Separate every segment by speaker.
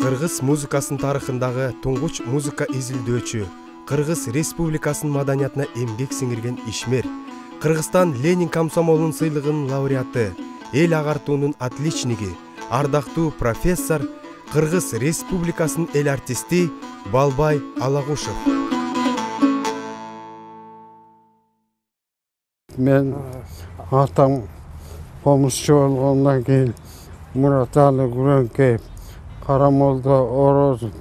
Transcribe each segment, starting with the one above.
Speaker 1: Кыргыз музыкасынын тарыхындагы туңгуч музыка изилдөөчү, Кыргыз Республикасынын маданиятына эмгек сиңирген ишмер, Кыргызстан Ленин комсомолунун сыйлыгынын лауреаты, эл агартуунун отличниги, ардактуу профессор, Кыргыз Республикасынын эл артисти Балбай Алагушев.
Speaker 2: Мен атам комузчу болгондон кийин Мураталы Күрөңкеев, Карамолдо Орозов,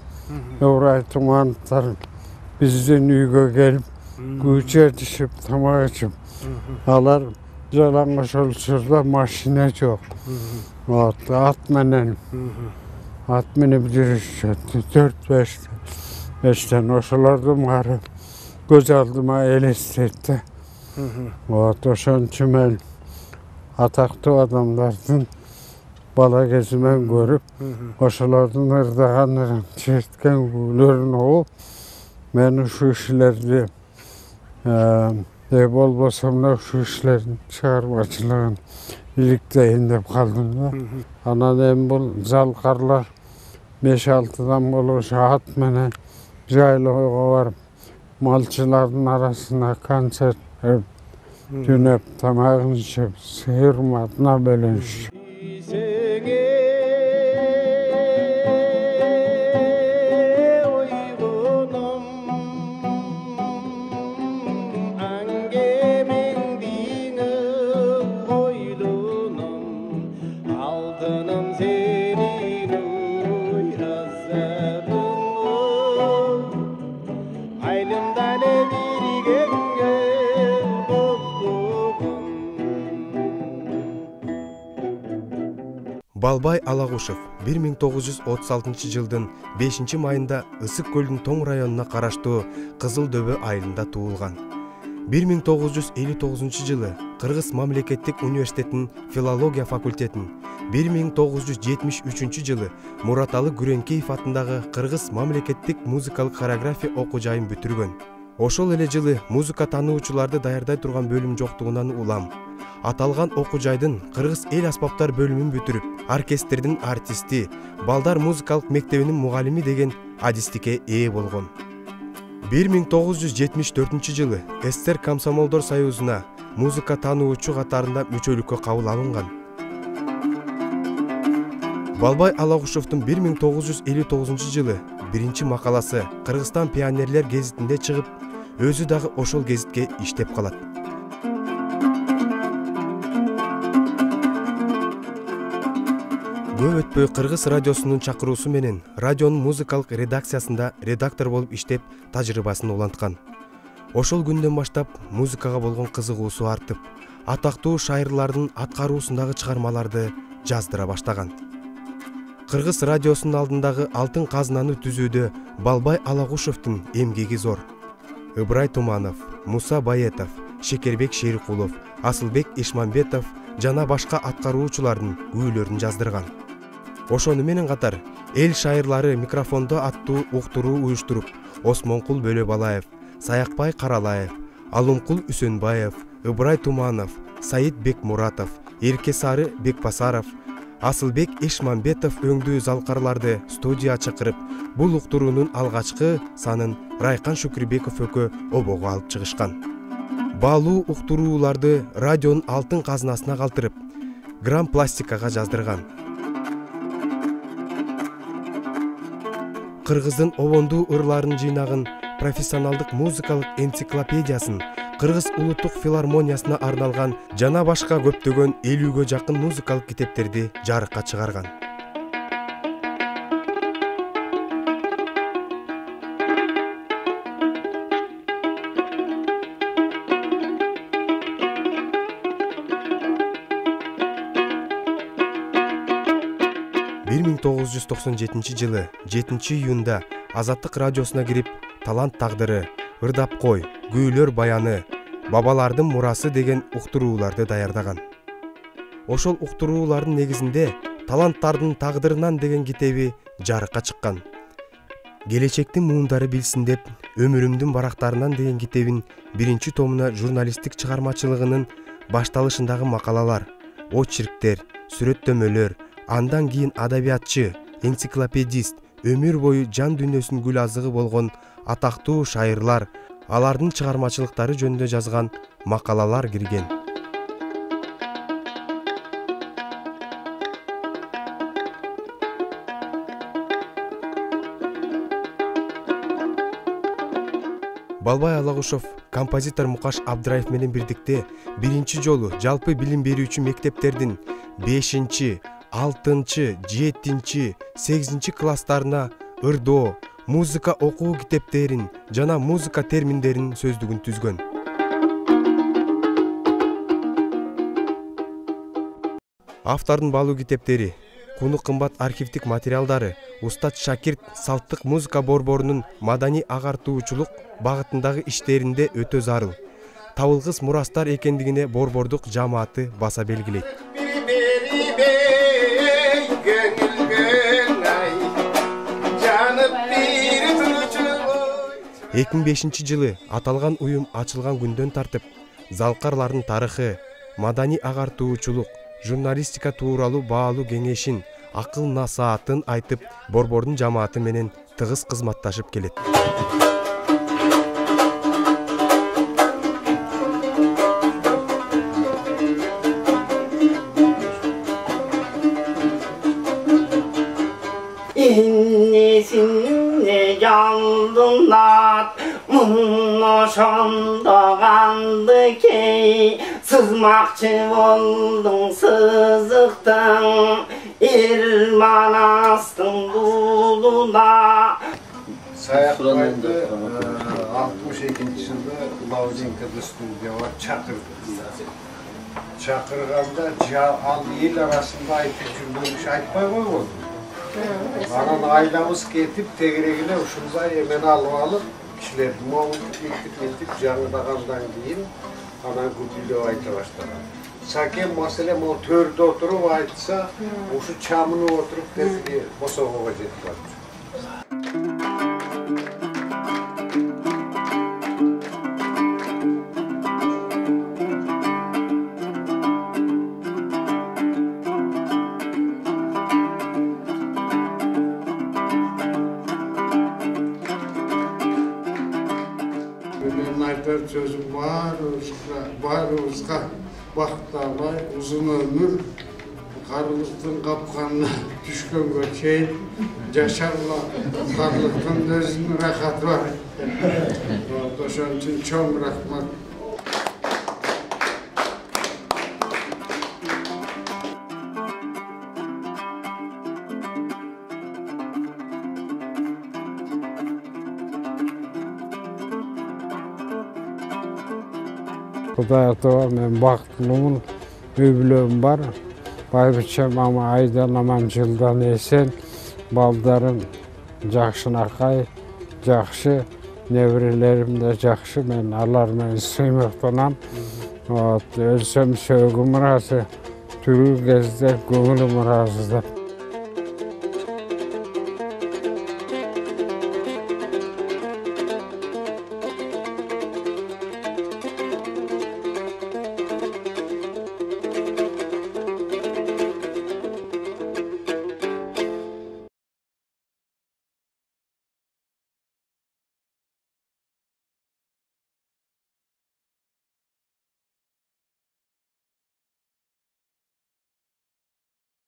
Speaker 2: Ыбырай Тумановдор биздин үйгө келип, күйчү этишип, тамак ичип, алар жалаңаш учурда машина жок. Ат менен жүрүшчү, 4-5 ошолордун баары көз алдыма элестейт да. Ошон үчүн мен атактуу адамдардын бала кезимен көрүп, ошолордун ырдаган, черткен күүлөрүн угуп, мен ушул кишилерди болбосом да ушул кишилердин чыгармачылыгын иликтейин деп калдым да. Анан эми бул залкарлар 5-6 болуш ат менен жайлоого барып, малчылардын арасында концерт түнөп, тамагын ичип, сыйырматына бөлүнүш.
Speaker 1: Балбай Алагушев 1936 жылдын 5 майында Ысык көлдүн Тоң районуна караштуу Кызыл Дөбө айылында туулган. 1959 жылы Кыргыз мамлекеттик университетинин филология факультетин, 1973 жылы Мураталы Күрөңкеев атындагы Кыргыз мамлекеттик музыкалык хореография окуу жайын бүтүргөн. Ошол эле жылы музыка таануучуларды даярдай турган бөлүм жоктугунан улам. Аталган окуу жайдын Кыргыз эл аспаптар бөлүмүн бүтүрүп, оркестрдин артисти, балдар музыкалык мектебинин мугалими деген адистикке ээ болгон. 1974 жылы СССР Комсомолдор союзуна музыка таануучу катарында мүчөлүккө кабыл алынган. Балбай Алагушевдун 1959 жылы биринчи макаласы Кыргызстан пионерлер гезитинде чыгып, өзү дагы ошол гезитке иштеп калат. Көп өтпөй Кыргыз радиосунун чакыруусу менен радионун музыкалык редакциясында редактор болуп иштеп, тажрыйбасын уланткан. Ошол күндөн баштап музыкага болгон кызыгуусу артып, атактуу шайырлардын аткаруусундагы чыгармаларды жаздыра баштаган. Кыргыз радиосунун алдындагы алтын казынаны түзүүдө Балбай Алагушевдин эмгеги зор. Ыбырай Туманов, Муса Баетов, Шекербек Шерикулов, Асылбек Ишмамбетов жана башка аткаруучулардын күүлөрүн жаздырган. Ошону менен катар эл шайырлары микрофондо аттуу уктуруу уюштуруп, Осмонкул Бөлөбалаев, Саякбай Каралаев, Алымкул Үсөнбаев, Ыбырай Туманов, Саид Бекмуратов, Эркесары Бекбасаров, Асылбек Ишмамбетов өңдүү залкарларды студияга чакырып, бул уктуруунун алгачкы санын Райкан Шүкүрбеков өкө обого алып чыгышкан. Баалуу уктурууларды радионун алтын казынасына калтырып, грамм пластикага жаздырган. Кыргыздын обондуу ырларын жыйнагын профессионалдык музыкалык энциклопедиясын, Кыргыз улуттук филармониясына арналган жана башка көптөгөн 50-гө жакын музыкалык китептерди жарыкка чыгарган. жылы 7 июнда Азаттык радиосуна кирип, Талант тагдыры, Ырдап кой, Күүлөр баяны, Бабалардын мурасы деген уктурууларды даярдаган. Ошол уктуруулардын негизинде Таланттардын тагдырынан деген китеби жарыкка чыккан. Келечектин муундары билсин деп, Өмүрүмдүн барактарынан деген китебин 1-томуна журналисттик чыгармачылыгынын башталышындагы макалалар, очерктер, сүрөттөмөлөр, андан кийин адабиятчы, энциклопедист, өмүр бою жан дүйнөсүнүн гүл азыгы болгон атактуу шайырлар, алардын чыгармачылыктары жөнүндө жазган макалалар кирген. Балбай Алагушов композитор Мукаш Абдыраев менен бирдикте биринчи жолу жалпы билим берүүчү мектептердин 5-6, 7, 8 класстарына ырдоо, музыка окуу китептерин жана музыка терминдеринин сөздүгүн түзгөн. Автордун баалуу китептери, куну кымбат архивдик материалдары устат шакирт салттык музыка борборунун маданий агартуучулук багытындагы иштеринде өтө зарыл. Табылгыс мурастар экендигине борбордук жамааты баса белгилейт. 2005 жылы аталган уюм ачылган күндөн тартып залкарлардын тарыхы, маданий агартуучулук, журналистика тууралуу баалуу кеңешин, акыл насаатын айтып, борбордун жамааты менен тыгыз кызматташып келет.
Speaker 3: İnnesinde yandınlar, bunu şonda kandı ki, sızmakçı oldun sızıktın, İrmanastın buluna.
Speaker 2: Sayakbay'da 62. yılda Lavzenka'da stüdyoya çakırdı. Çakırganda al el arasında aytıp жүргөнүш айтпай койгон. Анан айлабыз кетип тегерегине ушундай эмен алып алып, кишилерди моңдуп жаңырдагандан кийин анан күпүйлөп айта баштаган. Сакен маселе могу төрдө отуруп айтса, ушу чамынып отуруп тезги босогого жетип барчу. Benim aytar sözüm barımızga baktalay, uzun ömür, karılıktın kapkanına düşkönge çeyin, yaşarla karılıktın özünün rahatı var. Oşun için çok rahmat. Кудай атова мен бактылуумун, үй бүлөм бар. Байбичем ама айдан аман жылдан эсен, балдарым жакшынакай, жакшы, неберелерим да жакшы. Мен алар менен сыймыктанам. Өлсөм сөөгүм ыраазы, тирүү кезде көңүлүм ыраазы.